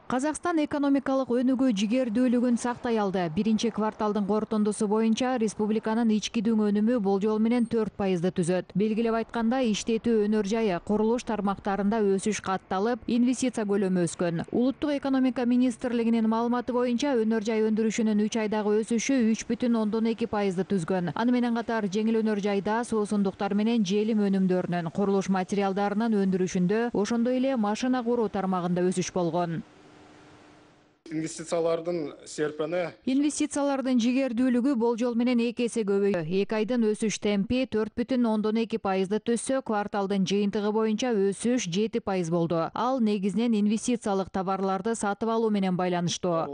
Казакстан экономикалык өнүгүү жигердүүлүгүн сактай алды. Биринчи кварталдын корутундусу боюнча республиканын ички дүң өнүмү болжол менен 4% түзөт. Белгилеп айтканда, иштетүү өнөр жайы, курулуш тармактарында өсүш катталып, инвестиция көлөмү өскөн. Улуттук экономика министрлигинин маалыматы боюнча, өнөр жай өндүрүшүнүн 3 айдагы өсүшү 3,2% түзгөн. Аны менен катар жеңил өнөр жайда суусундуктар менен желим өнүмдөрүнүн, курулуш материалдарынын өндүрүшүндө, ошондой эле машина куруу тармагында өсүш болгон. Инвестициялардын жигердүүлүгү болжол менен 2 эсе көбөйдү. 2 айдын өсүш темпи 4,2% түзсө, кварталдын жыйынтыгы боюнча өсүш 7% болду. Ал негизинен инвестициялык товарларды сатып алуу менен байланыштуу.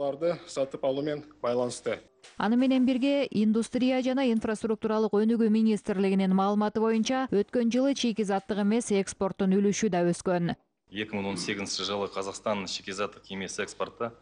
Аны менен бирге Индустрия жана инфраструктуралык өнүгүү министрлигинин маалыматы боюнча, өткөн жылы чийки-заттык эмес экспорттун үлүшү да өскөн. 2018 жылы Казакстан чийки-заттык эмес экспорты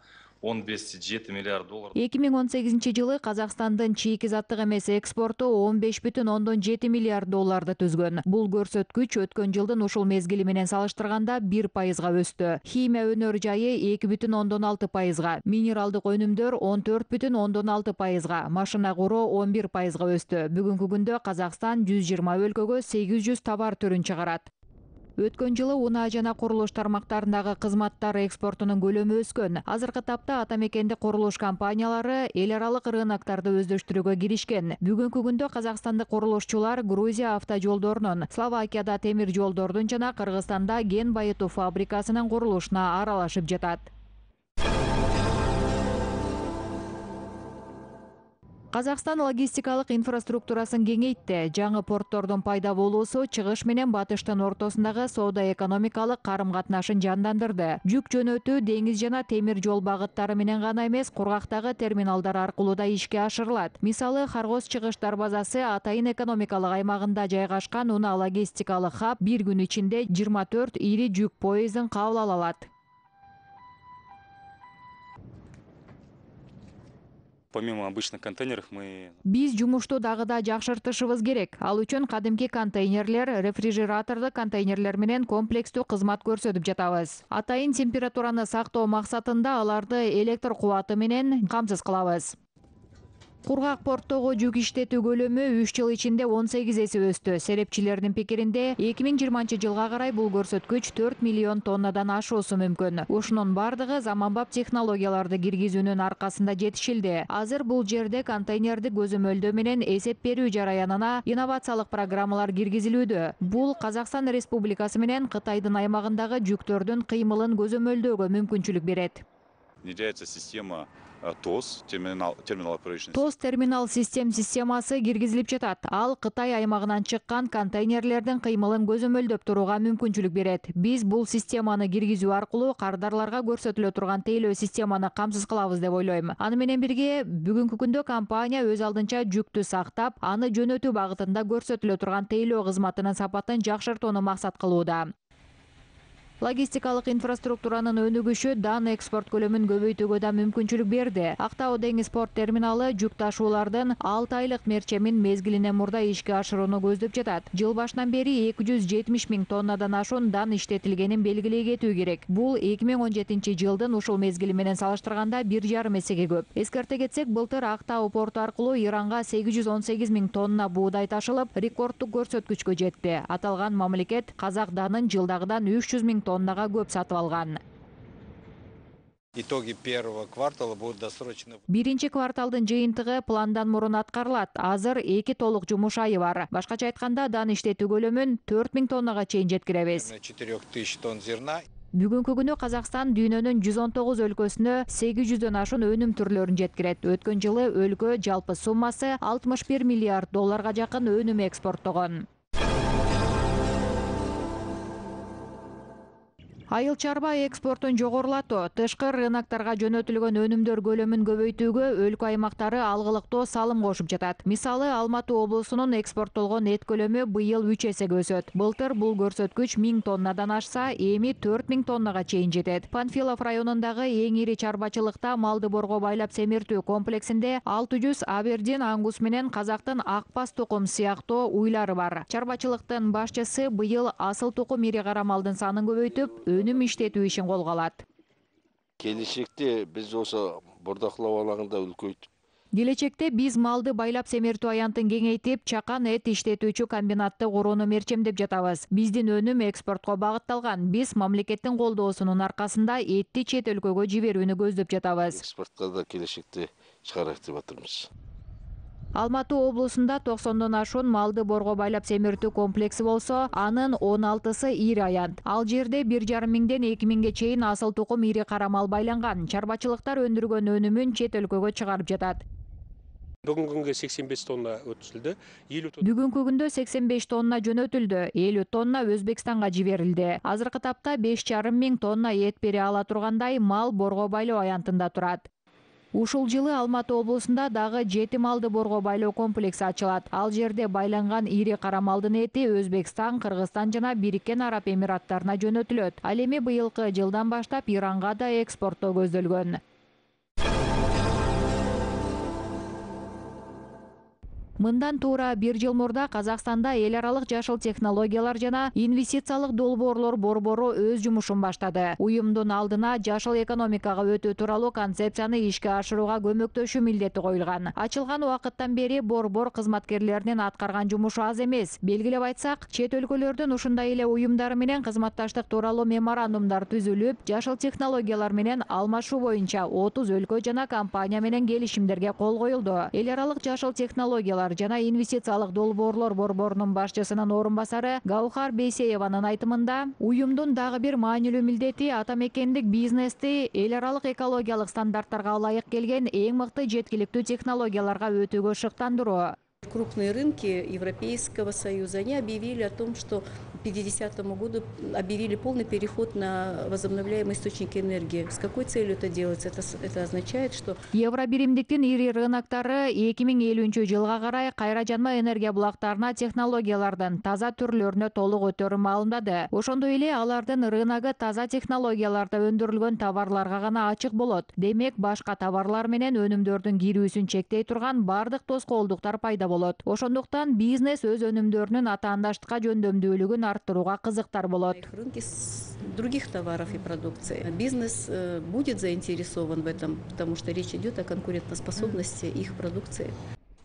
15,7 миллиард доллар. 2018 жылы Казакстандын чийки-заттык эмес экспорту 15,7 миллиард долларды түзгөн. Бул көрсөткүч өткөн жылдын ушул мезгили менен салыштырганда 1%га өстү. Химия өнөр жайы 2,6%га, минералдык өнүмдөр 14,6%га, машина куруу 11%га өстү. Бүгүнкү күндө Казакстан 120 өлкөгө 800 товар түрүн чыгарат. Өткөн жылы унаа жана курулуш тармактарындагы кызматтар экспортунун көлөмү өскөн. Азыркы тапта ата мекендик курулуш компаниялары эл аралык рыноктарды өздөштүрүүгө киришкен. Бүгүнкү күндө казакстандык курулушчулар Грузия автожолдорунун, Словакияда темир жолдордун жана Кыргызстанда кен байытуу фабрикасынын курулушуна аралашып жатат. Казакстан логистикалык инфраструктурасын кеңейтти. Жаңы порттордун пайда болуусу чыгыш менен батыштын ортосундагы соода-экономикалык карым-катнашын жандандырды. Жүк жөнөтүү деңиз жана темир жол багыттары менен гана эмес, кургактагы терминалдар аркылуу да ишке ашырылат. Мисалы, Харгоз чыгыш дарбазасы Атайын экономикалык аймагында жайгашкан унаа логистикалык хаб бир күн ичинде 24 ири жүк поездин кабыл ала алат. Помимо обычных контейнеров Биз жумушту дагы да жакшыртышыбыз керек. Ал үчүн кадимки контейнерлер, рефрижератордук контейнерлер менен комплекстүү кызмат көрсөтүп жатабыз. Атайын температураны сактоо максатында аларды электр кубаты менен камсыз кылабыз. Кургак порттогу жүк иштетүү көлөмү 3 жыл ичинде 18 эсе өстү. Серепчилердин пикиринде 2020 жылга карай бул көрсөткүч 4 миллион тоннадан ашуусу мүмкүн. Ушунун бардыгы заманбап технологияларды киргизүүнүн аркасында жетишилди. Азыр бул жерде контейнерди көзөмөлдөө менен эсеп берүү жараянына инновациялык программалар киргизилүүдө. Бул Казакстан Республикасы менен Кытайдын аймагындагы жүктөрдүн кыймылын көзөмөлдөөгө мүмкүнчүлүк берет. Внедряется система ТОС, ТОС терминал системасы киргизилип жатат. Ал Кытай аймагынан чыккан контейнерлердин кыймылын көзөмөлдөп турууга мүмкүнчүлүк берет. Биз бул системаны киргизүү аркылуу кардарларга көрсөтүлө турган тейлөө системаны камсыз кылабыз деп ойлойм. Аны менен бирге бүгүнкү күндө компания өз алдынча жүктү сактап, аны жөнөтүү багытында көрсөтүлө турган тейлөө кызматынын сапатын жакшыртууну максат кылууда. Логистикалык инфраструктуранын өнүгүшү дан экспорт көлөмүн көбөйтүүгө да мүмкүнчүлүк берди. Актау деңиз порт терминалы жүк ташуулардын 6 айлык мерчемин мезгилинен мурда ишке ашырууну көздөп жатат. Жыл башынан бери 270 миң тоннадан ашуун дан иштетилгенин белгилей кетүү керек. Бул 2017 жылдын ушул мезгили менен салыштырганда 1,5 эсеге көп. Эскерте кетсек, былтыр Актау порту аркылуу Иранга 818 миң тонна буудай ташылып, рекорддук көрсөткүчкө жетти. Аталган мамлекет казак данын жылдагыдан 300 миң тоннага көп сатып алган. Итоги первого квартала будут досрочно. Биринчи кварталдын жыйынтыгы пландан мурун аткарылат. Азыр 2 толук жумуш айы бар. Башкача айтканда, дан иштетүү көлөмүн 4 миң тоннага чейин жеткиребиз. 4000 тонн зерна. Бүгүнкү күнү Казакстан дүйнөнүн 119 өлкөсүнө 800дөн ашуун өнүм түрлөрүн жеткирет. Өткөн жылы өлкө жалпы суммасы 61 миллиард долларга жакын өнүм экспорттогон. Айыл чарба экспортун жогорулатуу, тышкы рынокторго жөнөтүлгөн өнүмдөр көлөмүн көбөйтүүгө өлкө аймактары алгылыктуу салым кошуп жатат. Мисалы, Алматы облусунун экспорттолгон эт көлөмү быйыл 3 эсеге өсөт. Былтыр бул көрсөткүч 1000 тоннадан ашса, эми 4000 тоннага чейин жетет. Панфилов районундагы эң ири чарбачылыкта малды борго байлап семиртүү комплексинде 600 абердин ангус менен казактын акбас тукум сыяктуу уйлары бар. Чарбачылыктын башчысы быйыл асыл тукум ири кара малдын санын көбөйтүп, өнүм иштетүү ишин колго алат. Келечекте биз ошо бордоклоо алаңында үлкөйтүп, Келечекте биз малды байлап семертүү аянтын кеңейтип, чакан эт иштетүүчү комбинатты курууну мерчемдеп жатабыз. Биздин өнүм экспортко багытталган. Биз мамлекеттин колдоосунун аркасында этти чет өлкөгө жиберүүнү көздөп жатабыз. экспортко да келечекте чыгарайык деп атырмыз. Алматы облусунда 90дон ашуун малды борго байлап семертүү комплекси болсо, анын 16сы ири аянт. Ал жерде 1,5 миңден 2 миңге чейин асыл тукум ири кара мал байланган. Чарбачылыктар өндүргөн өнүмүн чет өлкөгө чыгарып жатат. Бүгүнкү күнгө 85 тонна өткөзүлдү. Бүгүнкү күндө 85 тонна жөнөтүлдү, 50 тонна Өзбекстанга жиберилди. Азыркы тапта 5,5 миң тонна эт бере ала тургандай мал борго байлоо аянтында турат. Ушул жылы Алматы облусунда дагы 7 малды борго байлоо комплекси ачылат. Ал жерде байланган ири кара малдын эти Өзбекстан, Кыргызстан жана Бириккен Араб Эмираттарына жөнөтүлөт. Ал эми быйылкы жылдан баштап Иранга да экспорттоо көзделгөн. Мындан туура 1 жыл мурда Казакстанда эл аралык жашыл технологиялар жана инвестициялык долбоорлор борбору өз жумушун баштады. Уюмдун алдына жашыл экономикага өтүү тууралуу концепцияны ишке ашырууга көмөктөшүү милдети коюлган. Ачылган убакыттан бери борбор кызматкерлеринин аткарган жумушу аз эмес. Белгилеп айтсак, чет өлкөлөрдүн ушундай эле уюмдары менен кызматташтык тууралуу меморандумдар түзүлүп, жашыл технологиялар менен алмашуу боюнча 30 өлкө жана компания менен келишимдерге кол коюлду. Эл аралык жашыл технологиялар жана инвестициялык долбоорлор борборунун башчысынын орун басары Гаухар Бейсееванын айтымында, уюмдун дагы бир маанилүү милдети ата мекендик бизнести эл аралык экологиялык стандарттарга ылайык келген эң мыкты жеткиликтүү технологияларга өтүүгө шыктандыруу. Крупные рынки Европейского Союза, они объявили о том, что к 50-му году объявили полный переход на возобновляемые источники энергии. С какой целью это делается? Это означает, что Евробиримдиктин ири рыноктары 2050 жылга карай кайра жанма энергия булактарына технологиялардын таза түрлөрүнө толук өтөрүн маалымдады. Ошондой эле алардын рыногу таза технологияларда өндүрүлгөн товарларга гана ачык болот. Демек, башка товарлар менен өнүмдөрдүн кирүүсүн чектей турган бардык тоскоолдуктар пайда болот. Ошондуктан бизнес өз өнүмдөрүнүн атаандаштыкка жөндөмдүүлүгүн арттырууга кызыктар болот. Рынки других товаров и продукции. Бизнес будет заинтересован в этом, потому что речь идет о конкурентоспособности их продукции.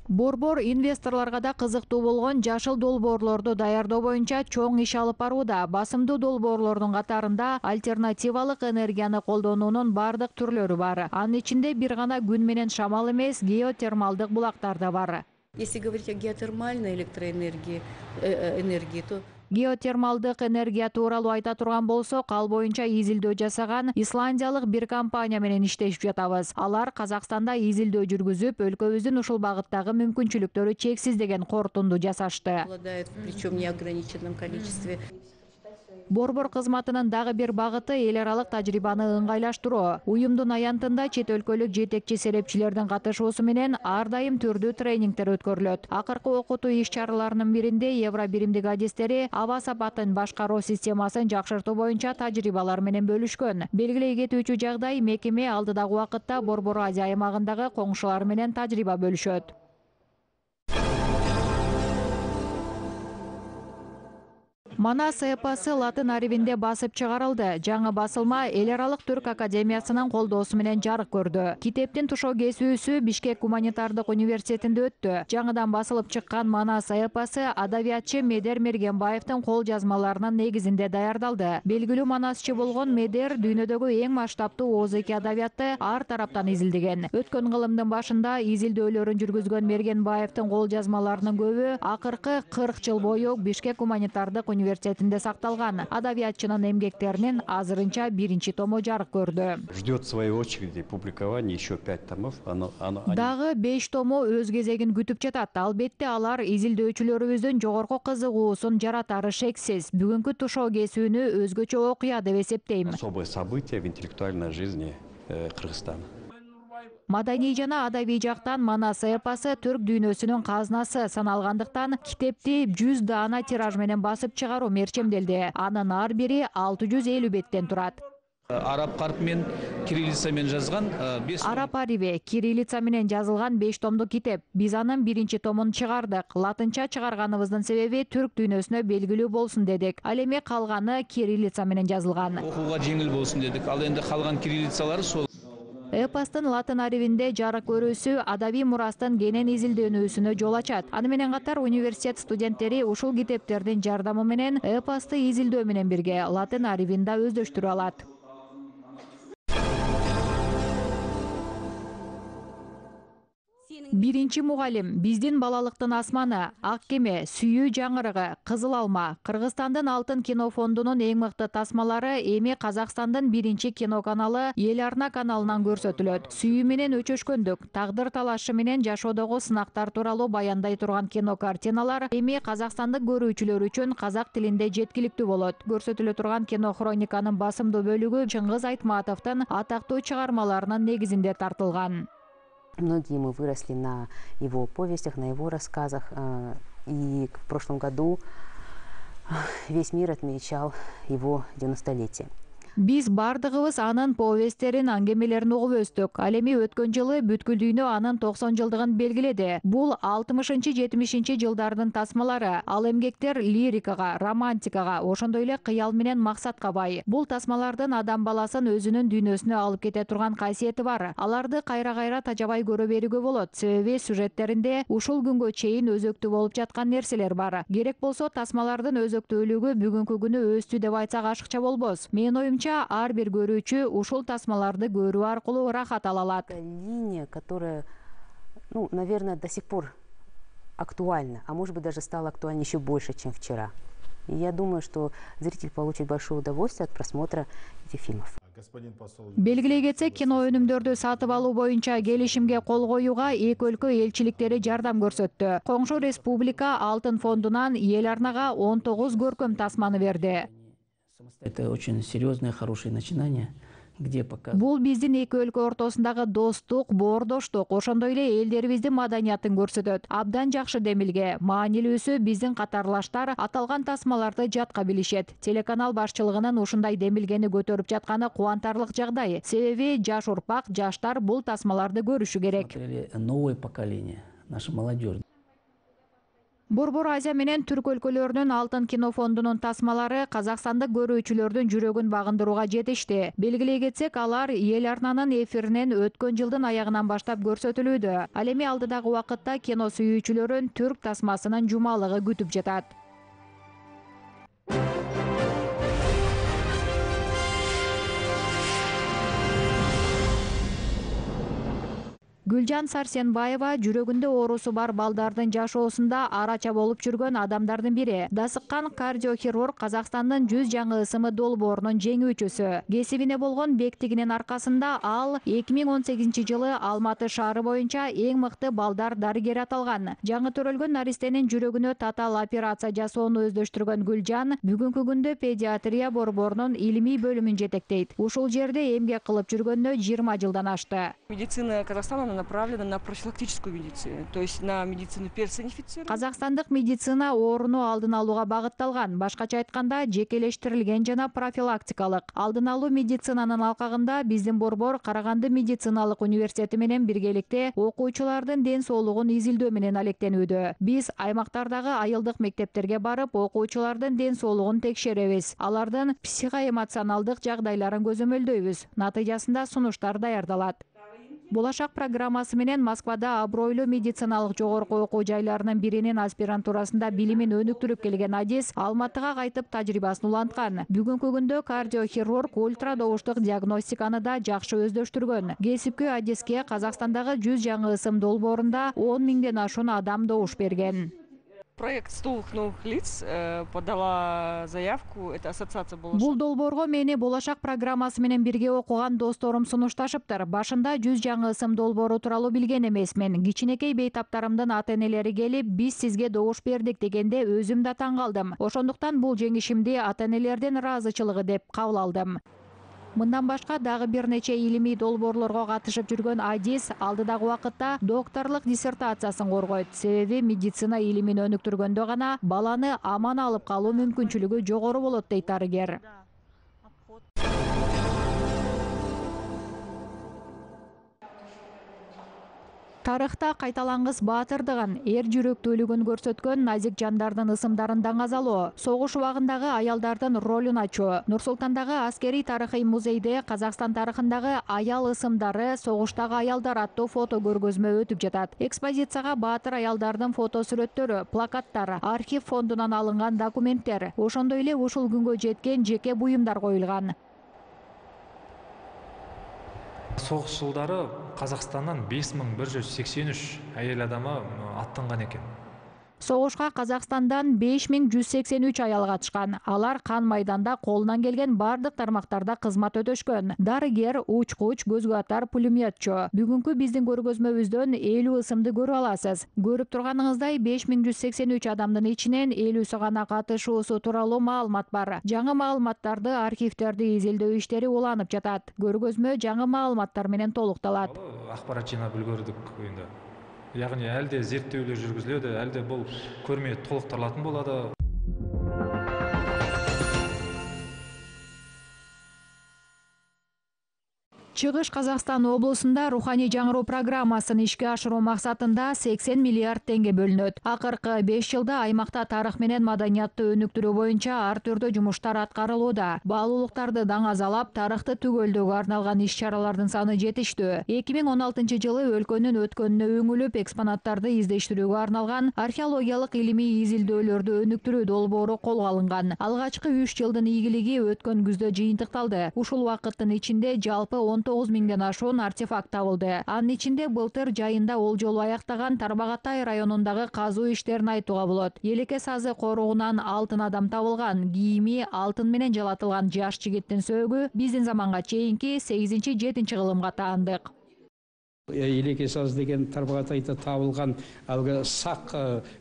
Борбор инвесторлорго да кызыктуу болгон жашыл долбоорлорду даярдоо боюнча чоң иш алып барууда. Басымдуу долбоорлордун катарында альтернативалык энергияны колдонуунун бардык түрлөрү бар. Анын ичинде бир гана күн менен шамал эмес, геотермалдык булактар да бар. Если говорить о геотермальной электроэнергии, то Геотермалдык энергия тууралуу айта турган болсок, ал боюнча изилдөө жасаган исландиялык бир компания менен иштешип жатабыз. Алар Казакстанда изилдөө жүргүзүп, өлкөбүздүн ушул багыттагы мүмкүнчүлүктөрү чексиз деген кортунду жасашты. Причем в неограниченном количестве. Борбор кызматынын дагы бир багыты эл аралык тажрыйбаны ыңгайлаштыруу. Уюмдун аянтында чет өлкөлүк жетекчи серепчилердин катышуусу менен ар дайым түрдүү тренингдер өткөрүлөт. Акыркы окутуу иш-чараларынын биринде Евробиримдик адистери аба сапатын башкаруу системасын жакшыртуу боюнча тажрыйбалар менен бөлүшкөн. Белгилей кетүүчү жагдай, мекеме алдыдагы убакытта Борбор Азия аймагындагы коңшулары менен тажрыйба бөлүшөт. Манас эпосы латын арабинде басып чыгарылды. Жаңы басылма эл аралык түрк академиясынын колдоосу менен жарык көрдү. Китептин тушоо кесүүсү Бишкек гуманитардык университетинде өттү. Жаңыдан басылып чыккан Манас эпосы адабиятчы Медер Мергенбаевдин кол жазмаларынын негизинде даярдалды. Белгилүү манасчы болгон Медер дүйнөдөгү эң масштабтуу озеки адабиятты ар тараптан изилдеген. Өткөн кылымдын башында изилдөөлөрүн жүргүзгөн Мергенбаевдин кол жазмаларынын көбү акыркы 40 жыл бою Бишкек гуманитардык университетинде сакталган. Адабиятчынын эмгектеринин азырынча биринчи тому жарык көрдү. Ждет своей очереди публикование еще 5 томов. Дагы 5 тому өз кезегин күтүп жатат. Албетте алар изилдөөчүлөрүбүздүн жогорку кызыгуусун жаратары шексиз. Бүгүнкү тушоо кесүүнү өзгөчө окуя деп эсептейм. Особое событие в интеллектуальной жизни Кыргызстана. Маданий жана адабий жактан Манас эпосы түрк дүйнөсүнүн казынасы саналгандыктан китепти 100 даана тираж менен басып чыгаруу мерчемделди. Анын ар бири 650 беттен турат. Араб карп менен кириллица менен жазган 5 Араб ариби кириллица менен жазылган 5 томдук китеп. Биз анын 1-чи томун чыгардык. Латынча чыгарганыбыздын себеби түрк дүйнөсүнө белгилүү болсун дедик. Ал эми калганы кириллица менен жазылган. Окууга жеңил болсун дедик. Ал энди калган кириллицалары сол. Эпостун латын арибинде жарык көрүүсү адабий мурастын кенен изилдөнүүсүнө жол ачат. Аны менен катар университет студенттери ушул китептердин жардамы менен эпосту изилдөө менен бирге латын арибин да өздөштүрө алат. Биринчи мугалим: биздин балалыктын асманы, ак кеме, сүйүү жаңырыгы, кызыл алма. Кыргызстандын алтын кино фондунун эң мыкты тасмалары эми Казакстандын 1-чи кино каналы Эл Арна каналынан көрсөтүлөт. Сүйүү менен өчөшкөндүк, тагдыр талашы менен жашоодогу сынактар тууралуу баяндай турган кино картиналар эми казакстандык көрүүчүлөр үчүн казак тилинде жеткиликтүү болот. Көрсөтүлө турган кино хрониканын басымдуу бөлүгү Чыңгыз Айтматовдун атактуу чыгармаларынын негизинде тартылган. Многие мы выросли на его повестях, на его рассказах. И в прошлом году весь мир отмечал его 90-летие. Биз бардыгыбыз анын повесттерин, аңгемелерин угуп өстүк. Ал эми өткөн жылы бүткүл дүйнө анын 90 жылдыгын белгиледи. Бул 60-70 жылдардын тасмалары. Ал эмгектер лирикага, романтикага, ошондой эле кыял менен максатка бай. Бул тасмалардын адам баласын өзүнүн дүйнөсүнө алып кете турган касиети бар. Аларды кайра-кайра тажабай көрө берүүгө болот. Себеби сюжеттеринде ушул күнгө чейин өзөктүү болуп жаткан нерселер бар. Керек болсо тасмалардын өзөктүүлүгү бүгүнкү күнү өстү деп айтсак ашыкча болбос. Менин оюмча ар бир көрүүчү ушул тасмаларды көрүү аркылуу рахат ала алат. Линия, которая, наверное, до сих пор актуальна, а может быть даже стала актуальнее еще больше, чем вчера. И я думаю, что зритель получит большое удовольствие от просмотра этих фильмов. Белгилей кетсек, кино өнүмдөрдү сатып алуу боюнча келишимге кол коюуга эки өлкө элчиликтери жардам көрсөттү. Коңшу республика Алтын фондунан Эл Арнага 19 көркөм тасманы берди. Это очень серьезное, хорошее начинание, где показывают. Бул биздин эки өлкө ортосундагы достук, боордоштук, ошондой эле элдерибиздин маданиятын көрсөтөт. Абдан жакшы демилге. Маанилүүсү биздин катарлаштар аталган тасмаларды жатка билишет. Телеканал башчылыгынын ушундай демилгени көтөрүп жатканы кубантарлык жагдай. Себеби жаш урпак, жаштар бул тасмаларды көрүшү керек. Новое поколение, наша молодежь. Борбор Азия менен Түрк өлкөлөрүнүн Алтын кино фондунун тасмалары казакстандык көрүүчүлөрдүн жүрөгүн багындырууга жетишти. Белгилей кетсек, алар Эл Арнанын эфиринен өткөн жылдын аягынан баштап көрсөтүлүүдө. Ал эми алдыдагы убакытта кино сүйүүчүлөрүн түрк тасмасынын жумалыгы күтүп жатат. Гүлжан Сарсенбаева жүрөгүндө оорусу бар балдардын жашоосунда арача болуп жүргөн адамдардын бири. Дасыккан кардиохирург Казакстандын 100 жаңы ысымы долбоорунун жеңүүчүсү. Кесибине болгон бектигинин аркасында ал 2018 жылы Алматы шаары боюнча эң мыкты балдар дарыгери аталган. Жаңы төрөлгөн наристенин жүрөгүнө татаал операция жасоону өздөштүргөн Гүлжан бүгүнкү күндө педиатрия борборунун илимий бөлүмүн жетектейт. Ушул жерде эмгек кылып жүргөнүнө 20 жылдан ашты. Медицина Казахстана направлена на профилактическую медицину, то есть на медицину персонифицированную. Казакстандык медицина ооруну алдын алууга багытталган. Башкача айтканда, жекелештирилген жана профилактикалык. Алдын алуу медицинанын алкагында биздин борбор Караганды медициналык университети менен биргеликте окуучулардын ден соолугун изилдөө менен алектенүүдө. Биз аймактардагы айылдык мектептерге барып, окуучулардын ден соолугун текшеребиз. Алардын психоэмоционалдык жагдайларын көзөмөлдөйбүз. Натыйжасында сунуштар даярдалат. Болашак программасы менен Москвада абройлуу медициналык жогорку окуу жайларынын биринин аспирантурасында билимин өнүктүрүп келген Адис Алматыга кайтып тажрыйбасын уланткан. Бүгүнкү күндө кардиохирург ультрадобуштук диагностиканы да жакшы өздөштүргөн. Кесипкөй Адиске Казакстандагы 100 жаңы ысым долбоорунда 10 миңден ашуун адам добуш берген. Проект 100 новых лиц подала заявку, это ассоциация Болашак. Бул долбоорго мени Болашак программасы менен бирге окуган досторум сунушташыптыр. Башында 100 жаңы ысым долбоору тууралуу билген эмесмин. Кичинекей бейтаптарымдын ата-энелери келип, биз сизге добуш бердик дегенде өзүм да таң калдым. Ошондуктан бул жеңишимди ата-энелердин ыраазычылыгы деп кабыл алдым. Мындан башка дагы бир нече илимий долбоорлорго катышып жүргөн Адис алдыдагы убакытта докторлук диссертациясын коргойт. Себеби медицина илимин өнүктүргөндө гана баланы аман алып калуу мүмкүнчүлүгү жогору болот дейт дарыгер. Тарыхта кайталангыс баатырдыгын, эр жүрөктүүлүгүн көрсөткөн назик жандардын ысымдарын даңазалоо, согуш убагындагы аялдардын ролун ачуу. Нур-Султандагы аскерий тарыхый музейде Казакстан тарыхындагы аял ысымдары, согуштагы аялдар аттуу фото көргөзмө өтүп жатат. Экспозицияга баатыр аялдардын фото сүрөттөрү, плакаттар, архив фондунан алынган документтер, ошондой эле ушул күнгө жеткен жеке буюмдар коюлган. Соғыс жылдары Қазақстаннан 5183 әйел адамы аттанған екен. Согушка Казакстандан 5183 аял катышкан. Алар кан майданда колунан келген бардык тармактарда кызмат өтөшкөн. Дарыгер, учкуч, көзгө атар, пулеметчу. Бүгүнкү биздин көргөзмөбүздөн 50 ысымды көрүп аласыз. Көрүп турганыңыздай 5183 адамдын ичинен 50сү гана катышуусу тууралуу маалымат бар. Жаңы маалыматтарды, архивтерди изилдөө иштери уланып жатат. Көргөзмө жаңы маалыматтар менен толукталат. Акпарат жыйнап үлгөрдүк енді. Яғни әлде зерттеулер жүргүзүлөдү, әлде бұл көрме толукталатын болады. Чыгыш Казакстан облусунда руханий жаңыруу программасын ишке ашыруу максатында 80 миллиард теңге бөлүнөт. Акыркы 5 жылда аймакта тарых менен маданиятты өнүктүрүү боюнча ар түрдүү жумуштар аткарылууда. Баалуулуктарды даңазалап, тарыхты түгөлдөөгө арналган иш-чаралардын саны жетиштүү. 2016 жылы өлкөнүн өткөнүнө өңүлүп, экспонаттарды издештирүүгө арналган археологиялык илимий изилдөөлөрдү өнүктүрүү долбоору колго алынган. Алгачкы 3 жылдын ийгилиги өткөн күздө жыйынтыкталды. Ушул убакыттын ичинде жалпы 9 миңден ашуун артефакт табылды. Анын ичинде былтыр жайында олжолуу аяктаган Тарбағатай районундагы казуу иштерин айтууга болот. Елеке сазы коругунан алтын адам табылган. Кийими алтын менен жалатылган жаш жигиттин сөөгү биздин заманга чейинки 8-7 кылымга таандык. Елеке саз деген Тарбағатайда табылған алғы сақ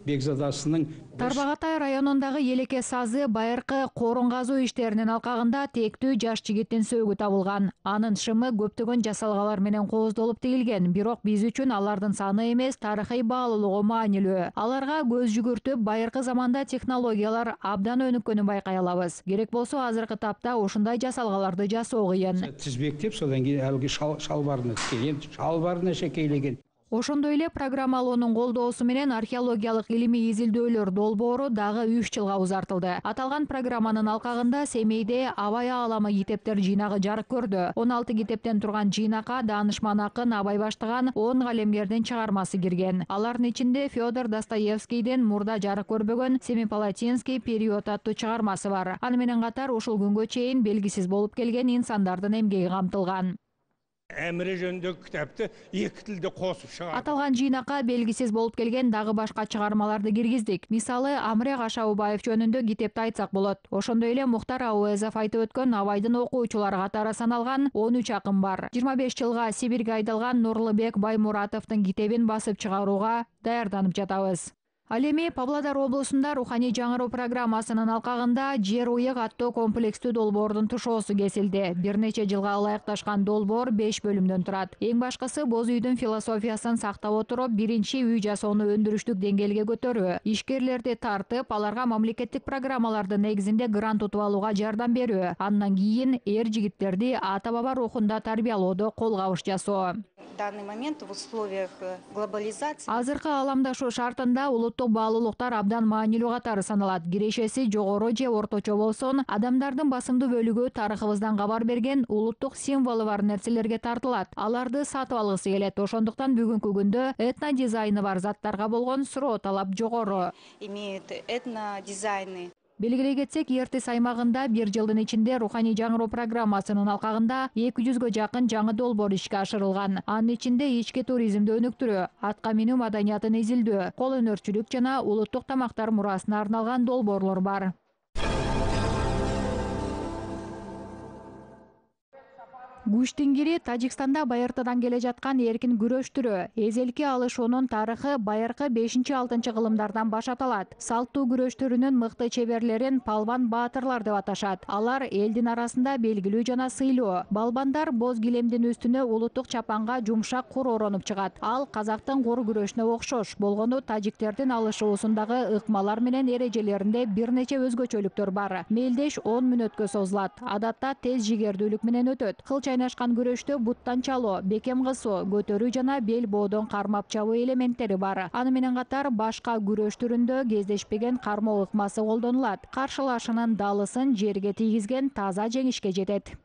бекзадасының Тарбағатай районундагы Елеке сазы байыркы корун казуу иштеринин алкагында тектүү жаш жигиттин сөөгү табылган. Анын шымы көптөгөн жасалгалар менен кооздолуп тигилген, бирок биз үчүн алардын саны эмес, тарыхый баалуулугу маанилүү. Аларга көз жүгүртүп, байыркы заманда технологиялар абдан өнүккөнүн байкай алабыз. Керек болсо азыркы тапта ушундай жасалгаларды жасоо кыйын. Тизбектеп, содан кийин алгы шалбарына тиккен, шалбарына шекейлеген. Ошондой эле программалоонун колдоосу менен археологиялык илимий изилдөөлөр долбоору дагы 3 жылга узартылды. Аталган программанын алкагында Семейде Абай ааламы китептер жыйнагы жарык көрдү. 16 китептен турган жыйнакка даанышман акын Абай баштаган 10 калемгердин чыгармасы кирген. Алардын ичинде Федор Достоевскийдин мурда жарык көрбөгөн Семипалатинский период аттуу чыгармасы бар. Аны менен катар ушул күнгө чейин белгисиз болуп келген инсандардын эмгеги камтылган. Әміре жөнүндөгү китапты 2 тилде косуп чыгардык. Аталган жыйнакка белгисиз болуп келген дагы башка чыгармаларды киргиздик. Мисалы, Амре Кашаубаев жөнүндө китепти айтсак болот. Ошондой эле Мухтар Ауэзов айтып өткөн Абайдын окуучулары катары саналган 13 акын бар. 25 жылга Сибирге айдалган Нурлубек Баймуратовдун китебин басып чыгарууга даярданып жатабыз. Ал эми Павлодар облусунда руханий жаңыруу программасынын алкагында Жер уйык аттуу комплекстүү долбоордун тушоосу кесилди. Бир нече жылга ылайыкташкан долбоор 5 бөлүмдөн турат. Эң башкысы боз үйдүн философиясын сактап отуруп, биринчи үй жасоону өндүрүштүк деңгээлге көтөрүү, ишкерлерди тартып, аларга мамлекеттик программалардын негизинде грант утуп алууга жардам берүү. Андан кийин эр-жигиттерди ата-баба рухунда тарбиялоодо кол кабыш жасоо. В данный момент в условиях глобализации азыркы ааламдашуу шартында улуттук баалуулуктар абдан маанилүү катары саналат. Кирешеси жогору же орточо болсун, адамдардын басымдуу бөлүгү тарыхыбыздан кабар берген улуттук символу бар нерселерге тартылат. Аларды сатып алгысы келет. Ошондуктан бүгүнкү күндө этнодизайны бар заттарга болгон суроо талап жогору. Имеют этнодизайны. Белгилей кетсек, Ертис аймагында 1 жылдын ичинде руханий жаңыруу программасынын алкагында 200гө жакын жаңы долбоор ишке ашырылган. Анын ичинде ички туризмди өнүктүрүү, атка минүү маданиятын изилдөө, кол өнөрчүлүк жана улуттук тамактар мурасына арналган долбоорлор бар. Гүштингири Тажикстанда байыртадан келе жаткан эркин күрөш түрү. Эзелки алышуунун тарыхы байыркы 5-6 кылымдардан баш аталат. Салттуу күрөш түрүнүн мыкты чеберлерин палван баатырлар деп аташат. Алар элдин арасында белгилүү жана сыйлуу. Балбандар боз килемдин үстүнө улуттук чапанга жумшак кур оронуп чыгат. Ал казактын кур күрөшүнө окшош болгону тажиктердин алышуусундагы ыкмалар менен эрежелеринде бир нече өзгөчөлүктөр бар. Мелдеш 10 мүнөткө созулат. Адатта тез жигердүүлүк менен өтөт. Кылчай кайнашкан күрөштө буттан чалуу, бекем кысуу, көтөрүү жана бел боодон кармап чабуу элементтери бар. Аны менен катар башка күрөш түрүндө кездешпеген кармоо ыкмасы колдонулат. Каршылашынын далысын жерге тийгизген таза жеңишке жетет.